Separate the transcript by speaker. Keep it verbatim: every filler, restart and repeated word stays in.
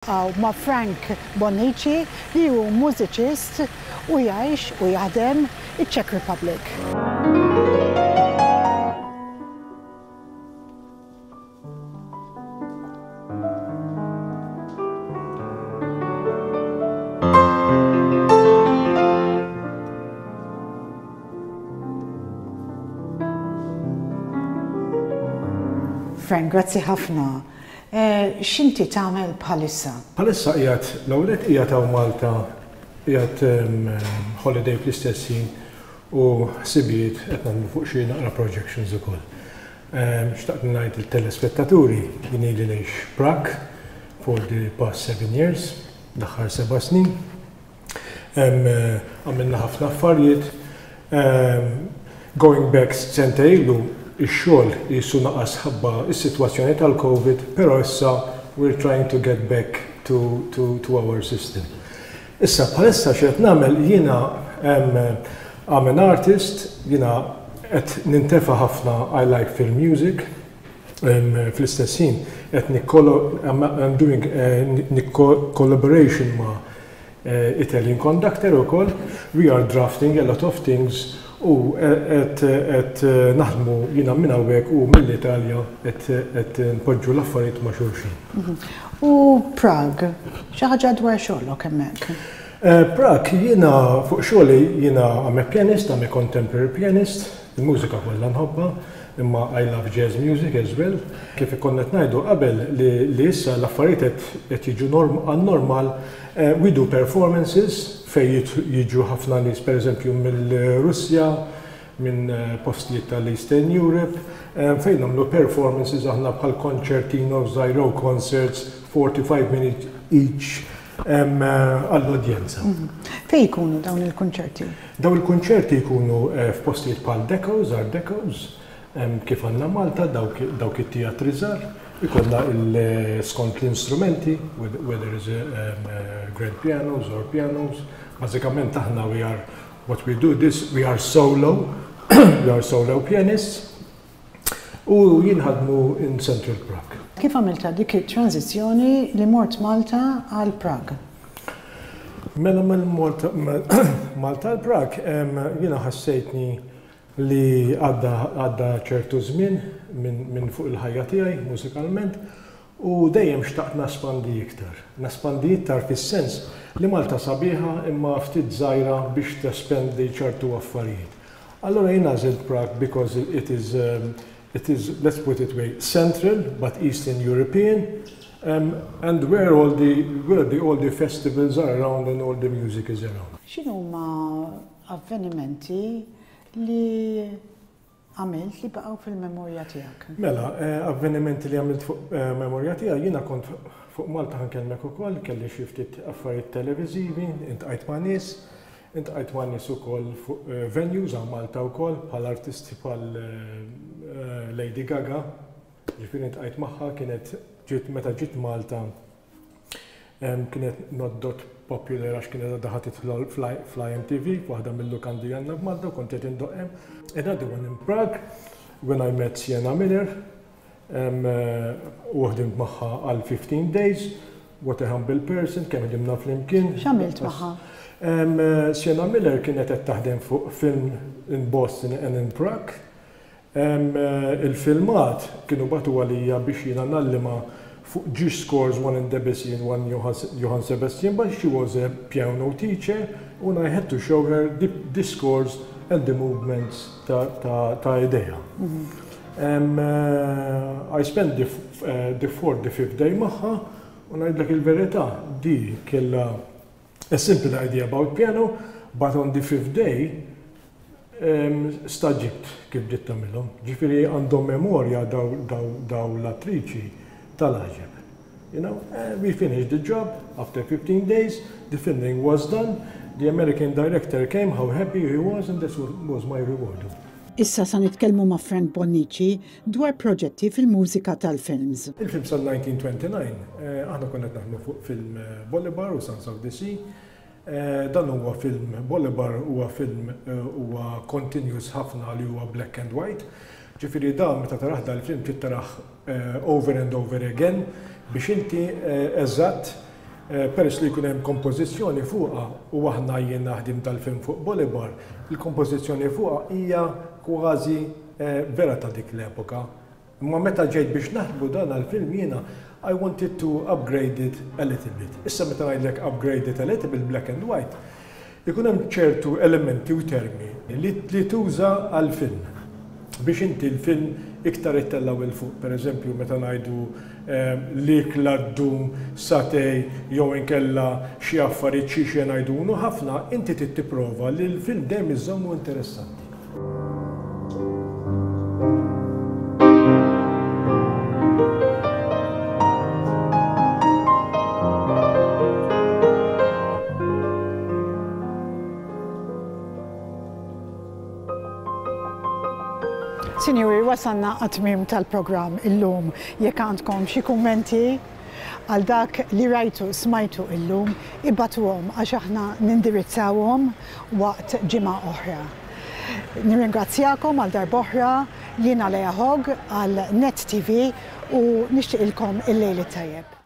Speaker 1: Niltaqgħu ma' Frank Bonnici, li hu mużiċist u jgħix u jaħdem iċ-Czech Republic. Frank, grazzi ħafna. Eh, x'inti tagħmel bħalissa?
Speaker 2: Bħalissa qiegħed, l-ewwel qiegħed hawn Malta, qiegħed holiday fl-istess ħin u ħsibijiet qed nagħmlu fuq xi naqra projections ukoll. Xtaqt ngħid il-telespettaturi jien ili ngħix Prague for the past seven years, l-aħħar seba' snin. Għamilna ħafna affarijiet. Going back sentejn ilu, ix-xogħol jisu naqas ħabba is-sitwazzjoni tal-Covid, però issa we're trying to get back to, to, to our system. Issa bħalissa x'qed nagħmel jiena, I'm an artist, jiena qed nintefa' ħafna, I like film music, fl-istess ħin qed I'm doing collaboration ma' eh, Italian conductor ukoll. We are drafting a lot of things u qed naħdmu jiena minn hawnhekk u mill-Italja qed npoġġu l-affarijiet ma' xulxin.
Speaker 1: Mhm. U Prague, xi ħaġa dwar xogħlok hemmhekk?
Speaker 2: Eh, Prague, jiena fuq xogħli jiena I'm a pianist, I'm a contemporary pianist, il-mużika kollha nħobbha, imma I love jazz music as well. Kif konna ngħidu qabel li issa l-affarijiet qed jiġu għan-normal, eh, we do performances fej jiġu ħafna nies, pereżempju, mill-Russja, minn eh, postijiet tal-Eastern Europe, eh, fejn nagħmlu performances aħna bħal concertino, żgħir, concerts, forty-five minutes each għall-udjenza.
Speaker 1: Mhm. Fej jkunu dawn il-konċerti?
Speaker 2: Dawn il-konċerti jkunu eh, f'postijiet bħal Decos, Art Decos, kif għandna Malta, dawk it-teatri żgħar, ikollna skont l-instrumenti, whether is grand pianos or pianos. Bażikament aħna we are, what we do this, we are solo, we are solo pianists, u jinħadmu in Central Prague.
Speaker 1: Kif għamilta dik it-tranzizzjoni li mort Malta għal Prague?
Speaker 2: Mela mill-Malta Malta għal Prague, jiena ħassejtni li għadda ċertu żmien minn fuq il-ħajja tiegħi mużikalment u dejjem xtaqt naspandi iktar. Naspandi iktar fis-sens li Malta sabiħa imma ftit żgħira biex tespendi ċertu affarijiet. Allora jien għażilt Prague because it is, um, it is, let's put it way, central but Eastern European, um, and where all the, where the, all the festivals are around and all the music is around.
Speaker 1: X'inhuma avvenimenti li għamilt li baqgħu fil-memorja tiegħek?
Speaker 2: Mela, eh, avvenimenti li għamilt fuq eh, memorja tiegħi, jiena kont fuq Malta, ħa nkellmek ukoll, kelli xi ftit affarijiet televiżivi, iltqajt ma' nies, iltqajt ma' nies ukoll fuq eh, venues għal Malta wkoll bħal artisti bħal Lady Gaga, ġifieri iltqajt magħha, kienet ġiet meta ġiet Malta, kienet not that popular għax kienet għadha tidħol fl-I M T V, waħda mill-lukandi għandna f'Malta, u kont qed indoqq hemm. Another one in Prague, when I met Sienna Miller, u ħdimt magħha għal fifteen days. What a humble person, kemm ħdimna flimkien.
Speaker 1: X'għamilt magħha?
Speaker 2: Sienna Miller kienet qed taħdem fuq film in Boston and in Prague. Il-filmat kienu bagħtu għalija biex jiena ngħallimha fuq ġiex scores, one in Debussy and one Johann Sebastian Bach. She was a piano teacher and I had to show her the, the scores and the movements ta', ta, ta idea. Mm -hmm. um, uh, I spent the, uh, the fourth, the fifth day magħha u ngħidlek il-verità, di kella a simple idea about piano, but on the fifth day um, stagħġibt kif bdiet tagħmilhom. Ġifieri għandhom memorja daw, daw, daw l-attriċi tal-għaġeb. You know, uh, we finished the job after fifteen days, the filming was done, the American director came, how happy he was, and this was my reward.
Speaker 1: Issa sa nitkellmu ma' Frank Bonnici dwar proġetti fil-mużika tal-films.
Speaker 2: Il-film sal-elf disa' mija u disgħa u disgħin, eh, aħna konna naħdmu fuq film eh, Bolivar u Sons of the Sea. Eh, dan huwa film, Bolivar huwa film huwa continuous ħafna li huwa black and white. Ġifieri da meta tarah dal-film trid tarah over and over again biex inti eżatt Eh, peress li jkun hemm kompożizzjoni fuqha u aħna jien naħdim tal-film fuq Bolivar, il-kompożizzjoni fuqha hija kważi eh, vera ta' dik l-epoka. Imma meta ġejt biex naħdmu dan għal-film jiena, I wanted to upgrade it a little bit. Issa meta ngħidlek upgrade it a little bit black and white, ikun hemm ċertu elementi u termi li, li tuża għal-film biex inti l-film iktar ittellgħu 'il fuq. Per eżempju, meta ngħidu eh, l-ikla ddum sagħtejn jew inkella xi affarijiet xi xi ngħidunu ħafna, inti trid tipprova li l-film dejjem iżommu interessanti.
Speaker 1: Sinjuri, wasalna għat-tmiem tal-programm illum. Jekk għandkom xi kummenti għal dak li rajtu smajtu illum, ibagħtuhom għax aħna nindirizzawhom waqt ġimgħa oħra. Nirringrazzjakom għal darb'oħra, jiena Lea Hogg għal Net T V u nixtieqilkom il-lejl it-tajjeb.